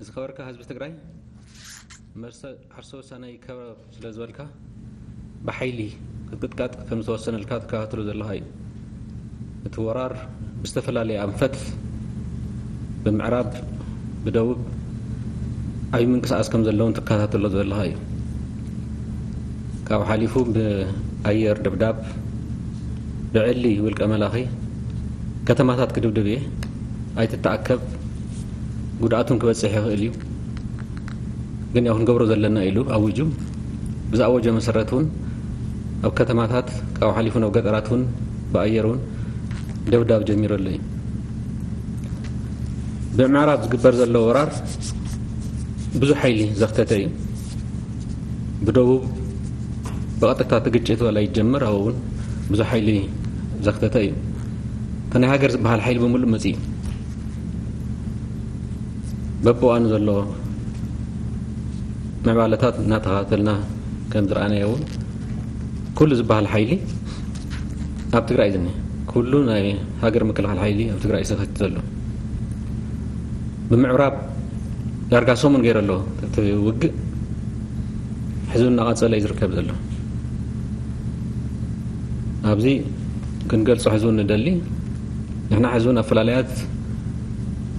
ዝኸበርካ ህዝቢ ትግራይ፣ መርሰ ዓርሰ ውሳነ ይከበር ስለ ዝበልካ፣ ብሓይሊ ክትቅጥቀጥ ከም ዝተወሰነልካ ትከታተሎ ዘለኻ እዩ። እቲ ወራር ብዝተፈላለየ ኣንፈት፣ ብምዕራብ፣ ብደቡብ፣ ዓብዪ ምንቅስቓስ ከም ዘለውን ትከታተሎ ዘለኻ እዩ። ካብኡ ሓሊፉ ብኣየር ደብዳብ፣ ብዕሊ ውልቀ መላኺ ከተማታት ክድብድብ እየ፣ ኣይትተኣከብ፣ ጉድኣቱን ክበፅሕ ይኽእል እዩ፣ ግን ያው ክንገብሮ ዘለና ኢሉ ኣዊጁ። ብዝኣወጀ መሰረት እውን ኣብ ከተማታት፣ ካብኡ ሓሊፉ ናብ ገጠራት እውን ብኣየር እውን ደብዳብ ጀሚሩ ኣሎ እዩ። ብምዕራብ ዝግበር ዘሎ ወራር ብዙሕ ሓይሊ ዘኽተተ እዩ። ብደቡብ ብቐጥታ እቲ ግጭት ዋላ ይጀመር፣ ኣብኡ እውን ብዙሕ ሓይሊ ዘኽተተ እዩ። እቲ ናይ ሃገር ዝበሃል ሓይሊ ብምሉእ መፂኡ እዩ። በብእዋኑ ዘሎ ምዕባለታት እናተኸታተልና ከም ዝረኣናዮ እውን፣ ኩሉ ዝበሃል ሓይሊ ኣብ ትግራይ እዩ ዝኒሀ። ኩሉ ናይ ሃገር ምክልኻል ሓይሊ ኣብ ትግራይ እዩ ዝኸት ዘሎ። ብምዕራብ ዳርጋ ሰሙን ገይሩ ኣሎ እቲ ውግእ፣ ሕዚ እውን እናቐፀለ እዩ ዝርከብ ዘሎ። ኣብዚ ክንገልፆ ሕዚ እውን ንደሊ፣ ንሕና ሕዚ እውን ኣፈላላያት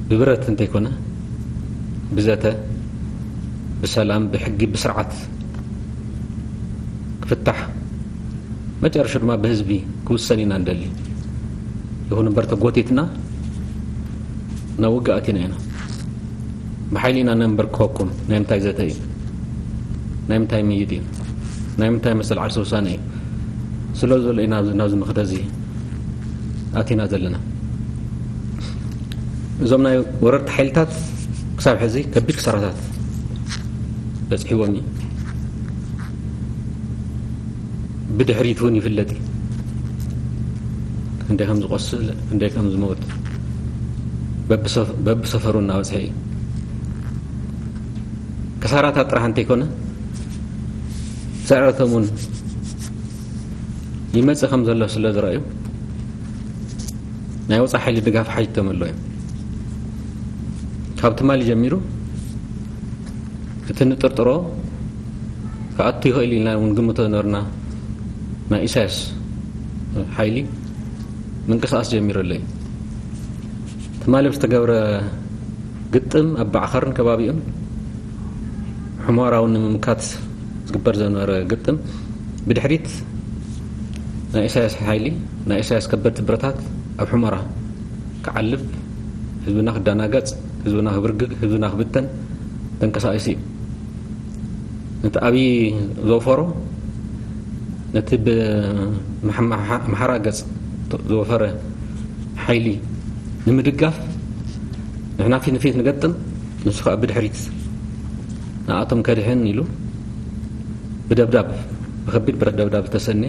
ብብረት እንተይኮነ፣ ብዘተ፣ ብሰላም፣ ብሕጊ፣ ብስርዓት ክፍታሕ፣ መጨረሻ ድማ ብህዝቢ ክውሰን ኢና ንደሊ። ይኹን እምበር ተጎቲትና ናብ ውግእ ኣቲና ኢና። ብሓይሊ ኢና ነንበርክኸኩም። ናይ ምንታይ ዘተ እዩ? ናይ ምንታይ ምይይጥ እዩ? ናይ ምንታይ መሰል ዓርሰ ውሳነ እዩ? ስለ ዘሎ ኢና ኣብዚ፣ ናብዚ መኽተ እዚ ኣቲና ዘለና። እዞም ናይ ወረርቲ ሓይልታት ክሳብ ሕዚ ከቢድ ክሳራታት በፅሒዎም እዩ። ብድሕሪት እውን ይፍለጥ እዩ። ክንደይ ከም ዝቆስል፣ ክንደይ ከም ዝሞት በብሰፍ-፣ በብሰፈሩ እናበፅሐ እዩ። ክሳራታት ጥራሕ እንተይኮነ፣ ስዕረቶም እውን ይመፅእ ከም ዘሎ ስለ ዝረኣዩ፣ ናይ ወፃኢ ሓይሊ ድጋፍ ሓቲቶም ኣለዉ እዮም። ካብ ትማሊ ጀሚሩ እቲ ንጥርጥሮ ክኣቱ ይኽእል ኢልና እውን ግምቶ ነበርና። ናይ ኢሳያስ ሓይሊ ምንቅስቓስ ጀሚሩ ኣሎ እዩ። ትማሊ ብዝተገብረ ግጥም ኣብ ባዕኸርን ከባቢኡን፣ ሑመራ እውን ንምምካት ዝግበር ዝነበረ ግጥም፣ ብድሕሪት ናይ ኢሳያስ ሓይሊ፣ ናይ ኢሳያስ ከበድቲ ብረታት ኣብ ሑመራ ክዓልብ፣ ህዝብና ክደናገጽ፣ ህዝብና ክብርግግ፣ ህዝብና ክብተን ተንቀሳቒሱ እዩ። ነቲ ኣብይ ዘውፈሮ፣ ነቲ ብመሓ-፣ መሓ-፣ መሓራ ገጽ ዘወፈረ ሓይሊ ንምድጋፍ፣ ንሕና ፊት ንፊት ንገጥም፣ ንሱ ከኣ ብድሕሪት ንኣቶም ከድሕን ኢሉ ብደብዳብ፣ ብከቢድ ብረት ደብዳብ ዝተሰነ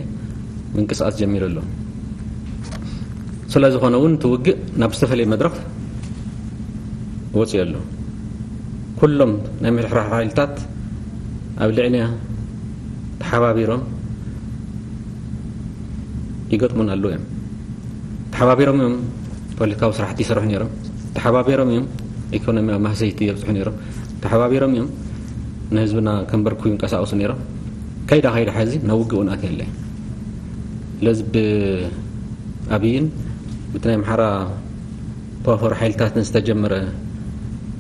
ምንቅስቓስ ጀሚሩ ኣሎ። ስለ ዝኾነ እውን እቲ ውግእ ናብ ዝተፈለየ መድረኽ ወፂኡ ኣሎ። ኩሎም ናይ ምሕድሕዳር ሓይልታት ኣብ ልዕሊና ተሓባቢሮም ይገጥሙና ኣለዉ እዮም። ተሓባቢሮም እዮም ፖለቲካዊ ስራሕቲ ይሰርሑ ነይሮም። ተሓባቢሮም እዮም ኢኮኖሚያዊ ማህሰይቲ የብፅሑ ነይሮም። ተሓባቢሮም እዮም ንህዝብና ከንበርኩ ይንቀሳቐሱ ነይሮም። ከይዳ ከይዳ ሕዚ ናብ ውግእ እውን ኣትያ ኣለ። ስለዚ ብኣብይን ብቲ ናይ ኣምሓራ ተዋፈሩ ሓይልታትን ዝተጀመረ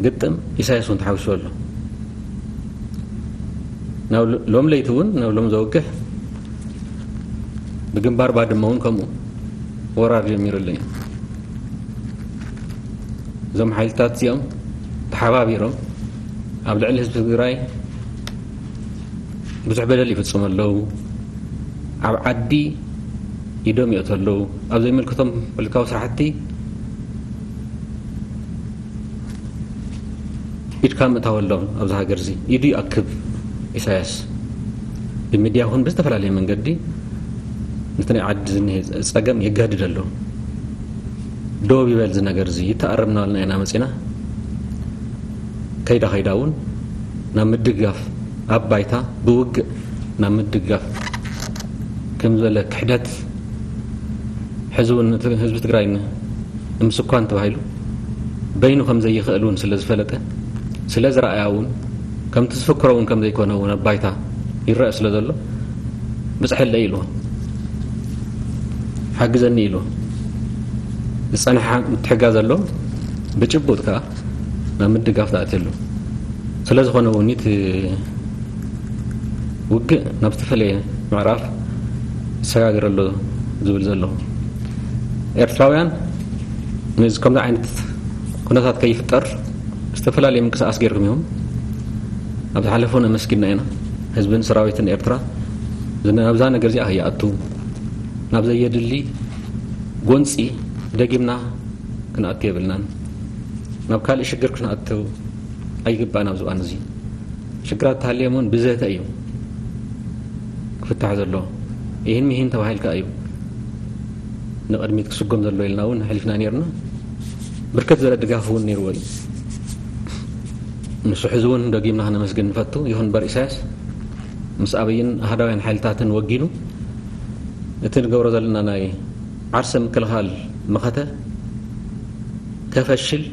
ግጥም ኢሳያስ እውን ተሓዊሱ ኣሎ። ናብ ሎ-፣ ሎም ለይቲ እውን ናብ ሎም ዘውግሕ ብግንባር ባድመ እውን ከምኡ ወራር ጀሚሩ ኣሎ እዩ። እዞም ሓይልታት እዚኦም ተሓባቢሮም ኣብ ልዕሊ ህዝቢ ትግራይ ብዙሕ በደል ይፍጽሙ ኣለዉ። ኣብ ዓዲ ኢዶም ይእቱ ኣለዉ። ኣብ ዘይምልከቶም ፖለቲካዊ ስራሕቲ ኢድካ ምእታወሎም ኣብዚ ሃገር እዚ። ኢዱ ይኣክብ ኢሳያስ። ብሚድያ ይኹን ብዝተፈላለየ መንገዲ ነቲ ናይ ዓዲ ዝኒሀ ጸገም የጋድድ ኣሎ። ደው ይበል እዚ ነገር እዚ፣ ይተኣረም እናበልና ኢና መጺና። ከይዳ ከይዳ እውን ናብ ምድግጋፍ፣ ኣብ ባይታ ብውግእ ናብ ምድግጋፍ ከም ዝበለ ክሕደት፣ ሕዚ እውን እቲ ህዝቢ ትግራይ ን-፣ ንምስኳን ተባሂሉ በይኑ ከም ዘይኽእል እውን ስለ ዝፈለጠ፣ ስለ ዝረኣያ እውን ከምቲ ዝፍክሮ እውን ከም ዘይኮነ እውን ኣብ ባይታ ይረአ ስለ ዘሎ፣ ብፅሐለይ ኢልዎ፣ ሓግዘኒ ኢልዎ፣ ዝፀንሐ ምትሕጋዝ ኣሎ፣ ብጭቡጥ ከዓ ናብ ምድጋፍ ተኣትየሉ። ስለ ዝኾነ እውን እቲ ውግእ ናብ ዝተፈለየ ምዕራፍ ይሰጋገር ኣሎ ዝብል ዘለኹ። ኤርትራውያን ነዚ ከምዚ ዓይነት ኩነታት ከይፍጠር ዝተፈላለየ ምንቅስቃስ ገይርኩም እዮም። ኣብ ዝሓለፈ እውን ኣመስጊንና ኢና። ህዝብን ሰራዊትን ኤርትራ ናብዛ ነገር እዚኣ ከይኣቱ፣ ናብ ዘየድሊ ጎንፂ ደጊምና ክንኣቱ የብልናን። ናብ ካልእ ሽግር ክንኣቱ ኣይግባእን። ኣብዚ እዋን እዚ ሽግራት ተሃልዮም እውን ብዘተ እዩ ክፍታሕ ዘለዎ። ይህን ሚሂን ተባሂልካ እዩ ንቕድሚት ክስጎም ዘለዎ ኢልና እውን ኣሕሊፍና ነይርና። ብርክት ዝበለ ድጋፍ እውን ነይርዎ እዩ። ንሱ ሕዚ እውን ደጊምና ክነመስግን ንፈቱ። ይኹን እምበር ኢሳያስ ምስ ኣብይን ኣህዳውያን ሓይልታትን ወጊኑ እቲ ንገብሮ ዘለና ናይ ዓርሰ ምክልኻል መኸተ ከፈሽል፣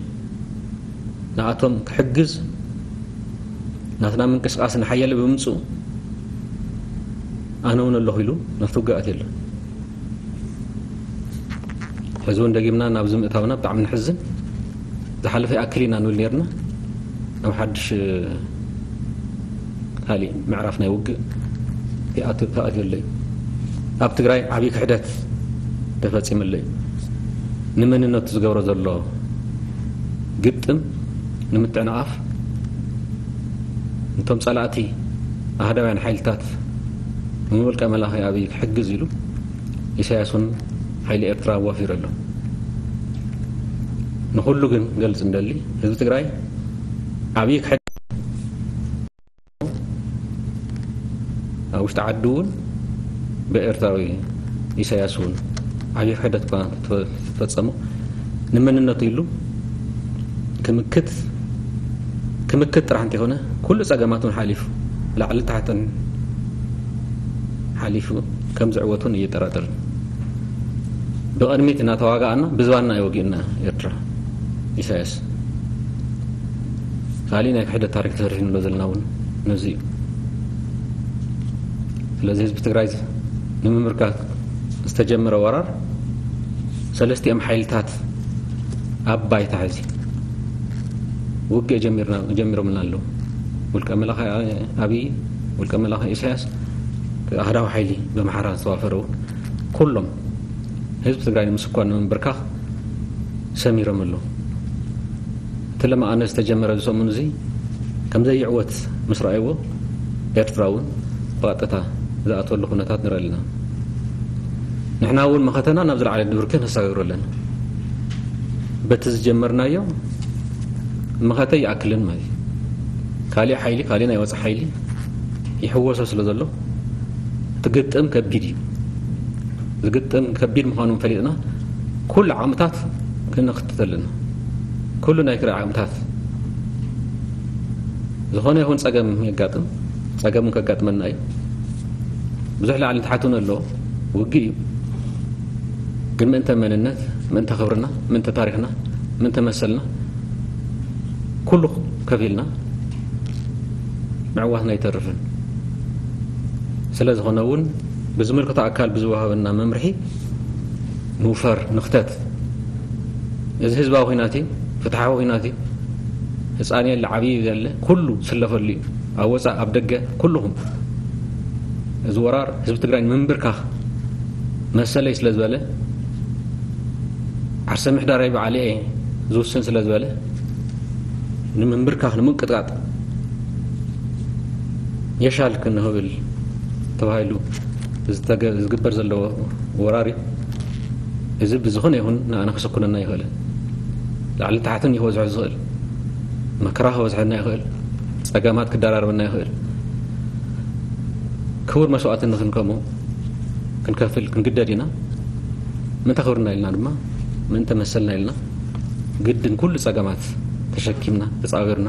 ንኣቶም ክሕግዝ፣ ናትና ምንቅስቃስ ንሓያለ ብምምፅኡ ኣነ እውን ኣለኹ ኢሉ ናብቲ ውግእ ኣትዩ ኣሎ። ሕዚ እውን ደጊምና ናብዚ ምእታውና ብጣዕሚ ንሕዝን። ዝሓለፈ ይኣክል ኢና ንብል ነይርና። ኣብ ሓድሽ፣ እ፣ ካሊእ ምዕራፍ ናይ ውግእ ይኣቱ-፣ ተኣትዩ ኣሎ እዩ። ኣብ ትግራይ ዓብዪ ክሕደት ተፈፂሙ ኣሎ እዩ። ንመንነቱ ዝገብሮ ዘሎ ግጥም ንምትዕንቓፍ፣ ነቶም ጸላእቲ ኣህዳውያን ሓይልታት ንውልቀ መላኺ ኣብይ ክሕግዝ ኢሉ ኢሳያስ እውን ሓይሊ ኤርትራ ኣዋፊሩ ኣሎ። ንኹሉ ግን ገልጽ እንደሊ፣ ህዝቢ ትግራይ ዓብዪ ክሕደት ኣብ ውሽጢ ዓዲ እውን ብኤርትራዊ ኢሳያስ እውን ዓብዪ ክሕደት እኳ እንተፈጸሞ፣ ንመንነቱ ኢሉ ክምክት፣ ክምክት ጥራሕ እንተይኮነ፣ ኩሉ ጸገማት እውን ሓሊፉ፣ ላዕሊ ታሕትን ሓሊፉ ከም ዝዕወት እውን እየጠራጥር። ብቕድሚት እናተዋጋኣና ብዝባንና እዩ ወጊኡና ኤርትራ ኢሳያስ። ካሊእ ናይ ክሕደት ታሪክ ተሰሪሑ ንብሎ ዘለና እውን ነዚ እዩ። ስለዚ ህዝቢ ትግራይ ንምምርካክ ዝተጀመረ ወራር ሰለስቲኦም ሓይልታት ኣብ ባይታ ሕዚ ውግእ ጀሚርና-፣ ጀሚሮምልና ኣለዉ። ውልቀ መላኺ ኣብይ፣ ውልቀ መላኺ ኢሳያስ፣ ኣህዳዊ ሓይሊ ብኣምሓራ ዝተዋፈረ እውን ኩሎም ህዝቢ ትግራይ ንምስኳን ንምንብርካኽ ሰሚሮም ኣለዉ። እቲ ለማኣነ ዝተጀመረ እዚ ሰሙን እዚ ከም ዘይዕወት ምስ ረኣይዎ፣ ኤርትራ እውን ብቐጥታ ዝኣትወሉ ኩነታት ንርኢ ኣለና። ንሕና እውን መኸተና ናብ ዝለዓለ ብርኪ ነሰጋግሮ ኣለና። በቲ ዝጀመርናዮ መኸተ ይኣክልን ማለት እዩ። ካሊእ ሓይሊ፣ ካሊእ ናይ ወፃኢ ሓይሊ ይሕወሶ ስለ ዘሎ፣ እቲ ግጥም ከቢድ እዩ። ዝግጥም ከቢድ ምዃኑ ፈሊጥና፣ ኩሉ ዓቕምታት ክነኽትት ኣለና። ኩሉ ናይ ክረ ዓቕምታት፣ ዝኾነ ይኹን ጸገም የጋጥም፣ ጸገም ከጋጥመና እዩ። ብዙሕ ላዕሊ ታሕቲ እውን ኣሎ፣ ውግእ እዩ። ግን ምእንተ መንነት፣ ምእንተ ክብርና፣ ምእንተ ታሪኽና፣ ምእንተ መሰልና፣ ኩሉ ከፊልና ምዕዋትና ኣይተርፍን። ስለ ዝኾነ እውን ብዝምልከቶ ኣካል ብዝወሃበና መምርሒ ንውፈር፣ ንኽተት። እዚ ህዝባዊ ኲናት እዩ፣ ፍትሓዊ ኲናት እዩ። ህፃን የለ፣ ዓብዪ የለ፣ ኩሉ ዝስለፈሉ እዩ። ኣብ ወፃእ፣ ኣብ ደገ፣ ኩልኹም። እዚ ወራር ህዝቢ ትግራይ ንምንብርካኽ መሰለይ ስለ ዝበለ፣ ዓርሰ ምሕዳረይ ባዕለይ እየ ዝውስን ስለ ዝበለ፣ ንምንብርካኽ፣ ንምንቅጥቃጥ የሻል ክንህብል ተባሂሉ ዝተገ-፣ ዝግበር ዘሎ ወራር እዩ። እዚ ብዝኾነ ይኹን ንኣና ክስኩነና ይኽእል። ላዕሊ ታሕትን እዩ ክበዝሖ ዝኽእል። መከራ ክበዝሐና ይኽእል። ጸገማት ክደራረበና ይኽእል። ክቡር መስዋእቲ ንኽንከሞ ክንከፍል ክንግደድ ኢና። ምእንተ ክብርና ኢልና ድማ፣ ምእንተ መሰልና ኢልና፣ ግድን ኩሉ ጸገማት ተሸኪምና፣ ተጻዊርና፣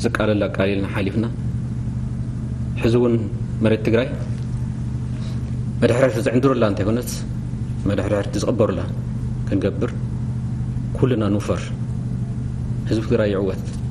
ዝቃለል ኣቃሊልና ሓሊፍና፣ ሕዚ እውን መሬት ትግራይ መድሕርሕርቲ ዝዕንድሩላ እንተይኮነት፣ መድሕርሕርቲ ዝቕበሩላ ክንገብር ኩልና ንውፈር። ህዝቢ ትግራይ ይዕወት።